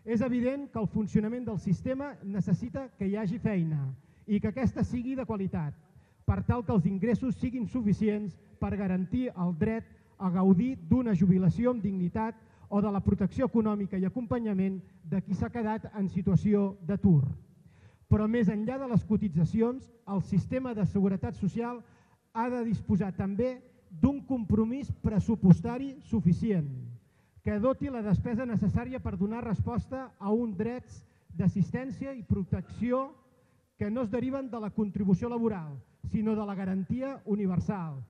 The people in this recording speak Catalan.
És evident que el funcionament del sistema necessita que hi hagi feina i que aquesta sigui de qualitat, per tal que els ingressos siguin suficients per garantir el dret a gaudir d'una jubilació amb dignitat o de la protecció econòmica i acompanyament de qui s'ha quedat en situació d'atur. Però més enllà de les cotitzacions, el sistema de seguretat social ha de disposar també d'un compromís pressupostari suficient, que doti la despesa necessària per donar resposta a uns drets d'assistència i protecció que no es deriven de la contribució laboral, sinó de la garantia universal